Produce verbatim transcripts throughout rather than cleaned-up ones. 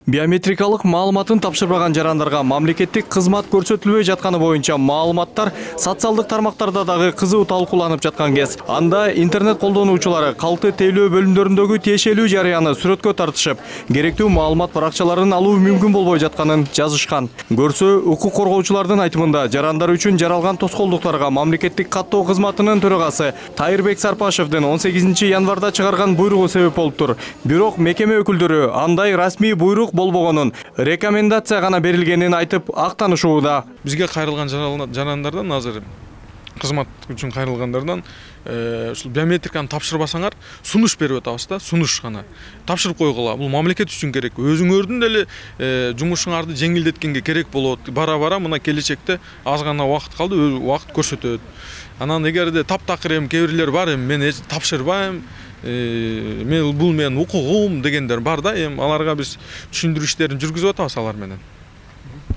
Биометрикалык маалыматын тапшырбаган жарандарга мамлекеттик кызмат көрсөтүлбөй жатканы боюнча маалыматтар социалдык тармактарда дагы кызуу талкууланып жаткан кез. Анда интернет колдонуучулары калты тейлөө бөлүмдөрүндөгү тиешелүү жарыяны сүрөткө тартышып, керектүү маалымат баракчаларын алуу мүмкүн болбой жатканын жазышкан. Көрсө, укук коргоочулардын айтымында жарандар үчүн жаралган тоскоолдуктарга мамлекеттик каттоо кызматынын төрагасы Тайырбек Сарпашевдин он сегизинчи январда чыгарган буйругу себеп болуптур. Бирок мекеме өкүлдөрү андай расмий буйрук болбогонун, рекомендация гана берилгенин айтып актанышууда. Бизге кайрылган жарандардан азыр кызмат үчүн кайрылгандардан ушул биометриканы тапшырбасаңар сунуш берип атабыз да, сунуш гана. Тапшырып койгула. Бул мамлекет үчүн керек. Өзүңөрдүн деле жумушуңарды жеңилдеткенге керек болот. Бара-бара мына келечекте аз гана убакыт калды, убакыт көрсөтөт. Анан эгерде таптакыр эми кээ бирлер бар, эми мен тапшырбайм, мен бул менин укугум дегендер бар да, эми аларга биз түшүндүрүү иштерин жүргүзүп атабыз алар менен.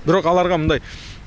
Бирок аларга мындай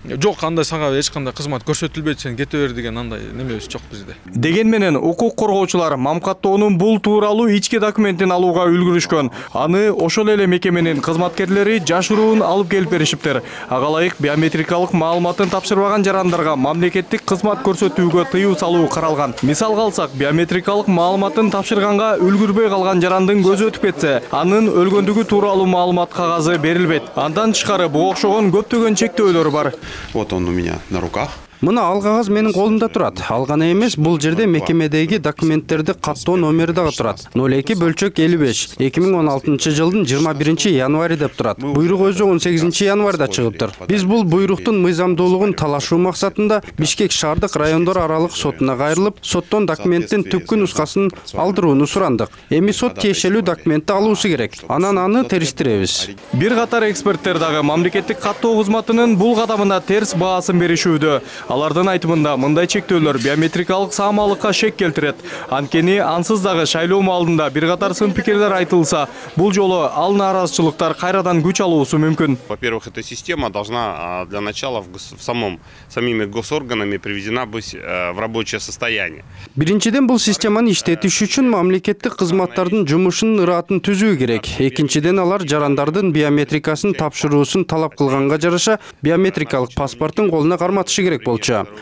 жок, андай сага эч кандай кызмат көрсөтүлбөйт, сен кете бер деген андай немебиз жок бизде. Деген менен укук коргоочулар мамкаттоонун бул тууралуу ички документин алууга үлгүрүшкөн. Аны ошол эле мекеменин кызматкерлери жашыруун алып келип беришиптир. Ага ылайык биометрикалык маалыматын тапшырбаган жарандарга мамлекеттик кызмат көрсөтүүгө тыюу салуу каралган. Мисалга алсак, биометрикалык маалыматын тапшырганга үлгүрбөй калган жарандын көзү өтүп кетсе, анын өлгөндүгү тууралуу маалымат кагазы берилбейт. Андан тышкары буга окшогон көптөгөн чектөөлөр бар. Вот он у меня на руках. Мына ал кагаз менин колумда турат. Ал гана эмес, бул жерде мекемедеги документтерди каттоо номери дагы турат. ноль эки бөлчөк элүү беш эки миң он алтынчы жылдын жыйырма биринчи январь деп турат. Буйрук өзү он сегизинчи январда чыгыптыр. Биз бул буйруктун мыйзамдуулугун талашуу максатында Бишкек шаардык райондор аралык сотуна кайрылып, соттон документтин түпкү нускасын алдырууну сурандык. Эми сот тиешелүү документти алуусу керек. Анан аны териштиребиз. Бир катар эксперттер дагы мамлекеттик каттоо кызматынын бул кадамына терс баасын беришүүдө. Алардын айтымында мындай чектөөлөр биометрикалык саамалыкка шек келтирет. Анткени ансыз дагы шайлоо маалында бир катар сын пикирлер айтылса, бул жолу ал нааразычылыктар кайрадан күч алуусу мүмкүн. Во-первых, эта система должна для начала в самом самими госорганами приведена быть в рабочее состояние. Биринчиден, бул системаны иштетиш үчүн мамлекеттик кызматтардын жумушунун ыраатын түзүү керек. Экинчиден, алар жарандардын биометрикасын тапшыруусун талап кылганга жараша биометрикалык паспорттун колуна карматышы керек болчу.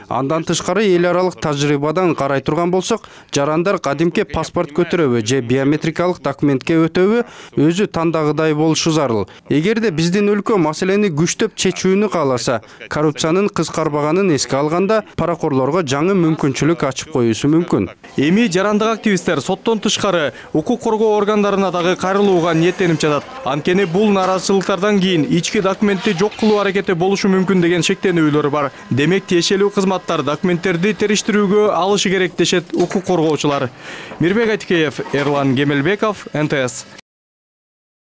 Андан тышкары эл аралык тажрыйбадан карай турган болсок, жарандар кадимки паспорт көтөрөбү же биометрикалык документке өтөбү өзү тандагыдай болушу зарыл. Эгерде биздин өлкө маселени күчтөп чечүүнү кааласа, коррупциянын кыскарбаганын эске алганда паракорлорго жаңы мүмкүнчүлүк ачып коюусу мүмкүн. Эми жарандык активисттер соттон тышкары укук коргоо органдарына дагы кайрылууга ниеттенип жатат. Анткени бул нааразычылыктардан кийин ички документти жок кылуу аракети болушу мүмкүн деген шектенүүлөр бар. Демек, тиешелүү кызматтар документтерди териштирүүгө алышы керек дешет укук коргоочулар. Мирбек Айтикеев, Эрлан Кемелбеков, эн тэ эс.